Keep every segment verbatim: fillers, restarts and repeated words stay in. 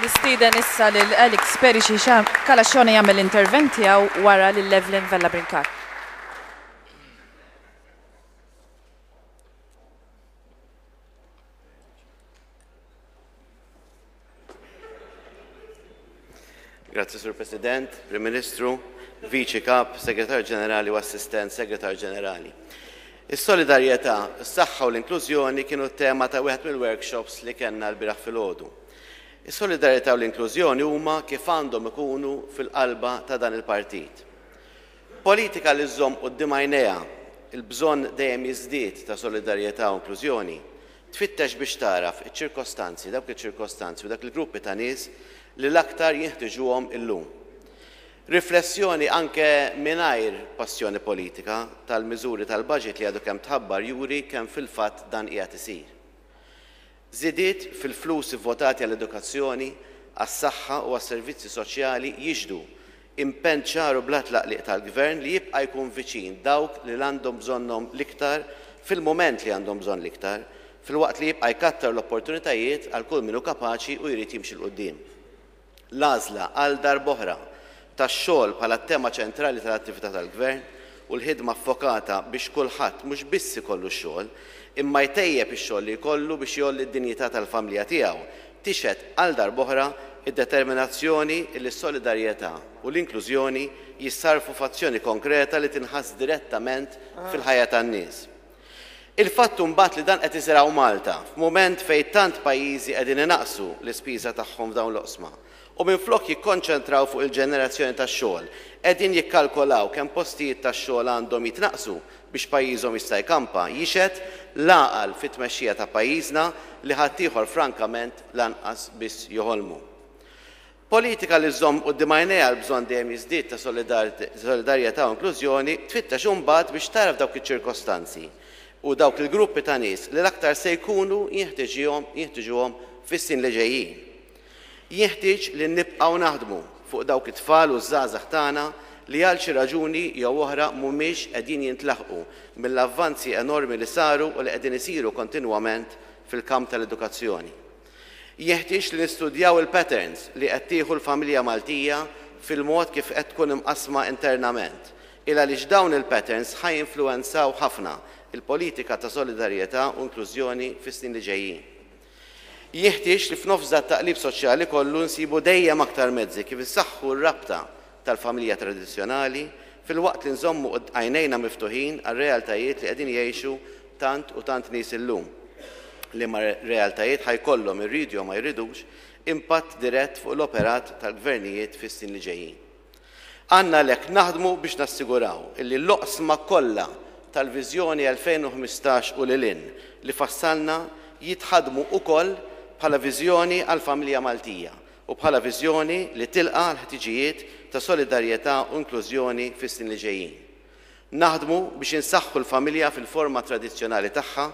Nistieden issa lil Alex Perici Calascione jagħmel l-intervent tiegħu wara lil Evelyn Vella Brincat. Grazzi, Sur President, Prim Ministru, Viċi Kap, Segretar Ġenerali u Assistent Segretar Ġenerali. Is-solidarjetà, is-saħħa u l-inklużjoni kienu t-tema ta' wieħed mill-workshops li kellna l-bieraħ filgħodu. Is-solidarjetà u l-inklużjoni huma kif għandhom ikunu fil-qalba ta' dan il-partit. Politika li żżomm quddiem għajnejha il-bżonn dejjem jiżdied ta' solidarjetà u inklużjoni tfittex biex tagħraf iċ-ċirkostanzi, dawk iċ-ċirkostanzi u dak il-gruppi ta' nies li l-aktar jinħtiġuhom illum. Riflessjoni anke mingħajr passjoni politika tal-miżuri tal-budget li għadu kemm tħabbar juri kemm fil-fatt dan qiegħed isir. Żidiet fil-flus ivvotati għall-edukazzjoni, għas-saħħa u għas-servizzi soċjali jixhdu impenn ċar u bla tlaqliq tal-gvern li jibqa' jkun viċin dawk li għandhom bżonnhom l-iktar fil-mument li għandhom bżonn l-iktar, filwaqt li jibqa' jkattar l-opportunitajiet għal kull min hu kapaċi u jrid jimxi 'l quddiem. L-għażla għal darb'oħra tax-xogħol bħala t-tema ċentrali tal-attività tal-gvern u l-ħidma ffokata biex kulħadd mhux biss ikollu x-xogħol, imma jtejjeb ix-xogħol li jkollu biex jgħolli d-dinjità tal-familja tiegħu, tixhed għal darb'oħra id-determinazzjoni li s-solidarjetà u l-inklużjoni jissarfu f'azzjoni konkreta li tinħass direttament fil-ħajja tan-nies. Il-fatt imbagħad li dan qed isir hawn Malta f'mument fejn tant pajjiżi qegħdin inaqqsu l-ispiża tagħhom f'dawn l-oqsma u minflok jikkonċentraw fuq il-ġenerazzjoni tax-xogħol qegħdin jikkalkolaw kemm postijiet tax-xogħol għandhom jitnaqqsu biex pajjiżhom jista' jkampa, jixhed l-għaqal fit-tmexxija ta' pajjiżna li ħaddieħor frankament lanqas biss joħolmu. Politika li żżomm quddiem għajnejha l-bżonn dejjem jiżdied ta' solidarjetà u inklużjoni tfittex imbagħad biex tagħraf dawk iċ-ċirkostanzi u dawk il-gruppi ta' nies li l-aktar se jkunu jinħtiġuhom fis-snin li ġejjin. Jinħtieġ li nibqgħu naħdmu fuq dawk it-tfal u ż-żgħażagħ tagħna li għal xi raġuni jew oħra mhumiex qegħdin jintlaħqu mill-avvanzi enormi li saru u li qegħdin isiru kontinwament fil-kamp tal-edukazzjoni. Jeħtieġ li nistudjaw il-patterns li qed tieħu l-familja Maltija fil-mod kif qed tkun imqassma internament, il għaliex dawn il-patterns ħa jinfluwenzaw ħafna il-politika ta' solidarjetà u inklużjoni fis-snin li ġejjin. Jeħtieġ li f'nofs dat-taqlib soċjali kollu nsibu dejjem aktar mezzi kif insaħħu r-rabta tal-familja tradizzjonali filwaqt li nżommu għajnejna miftuħin għar-realtajiet li qegħdin jgħixu tant u tant nies illum, liema realtajiet ħa jkollhom irridu jew ma jridux impatt dirett fuq l-operat tal-gvernijiet fis-snin li ġejjin. Għandna għalhekk naħdmu biex nassiguraw illi l-oqsma kollha tal-viżjoni elfejn u ħmistax u lil hinn li fassalna jitħadmu ukoll bħala viżjoni għall-familja Maltija u bħala viżjoni li tilqa' l-ħtiġijiet ta' solidarjetà u inklużjoni fis-snin li ġejjin. Naħdmu biex insaħħu l-familja fil-forma tradizzjonali tagħha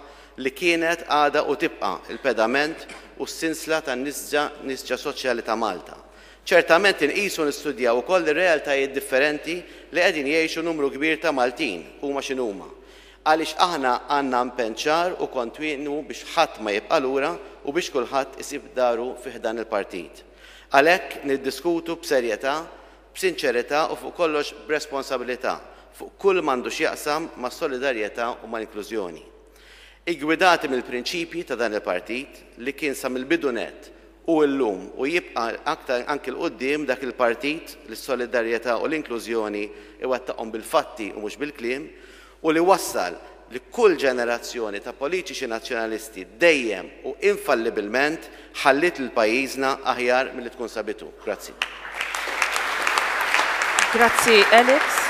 li kienet, għadha u tibqa' il-pedament u s-sinsla tan-nisġa nisġa soċjali ta' Malta. Ċertament inqisu nistudjaw ukoll ir-realtajiet differenti li qegħdin jgħixu numru kbir ta' Maltin huma x'inhuma, għaliex aħna għandna impenn ċar u kontinwu biex ħadd ma jibqa' lura u biex kulħadd isib daru fi ħdan il-partit. Għalhekk niddiskutu b'serjetà, b'sinċerità u fuq kollox b'responsabilità fuq kull m'għandu x'jaqsam ma' solidarjetà u ma' inklużjoni. Iggwidati mill-prinċipji ta' dan il-partit li kien sa mill-bidu nett u llum u jibqa' aktar anki 'l quddiem dak il-partit li s-solidarjetà u l-inklużjoni iwettaqhom bil-fatti u mhux bil-kliem u li wassal li kull ġenerazzjoni ta' politiċi nazzjonalisti dejjem u infallibilment ħalliet lil pajjiżna aħjar milli tkun sabitu. Grazzi. Grazzi, Alex.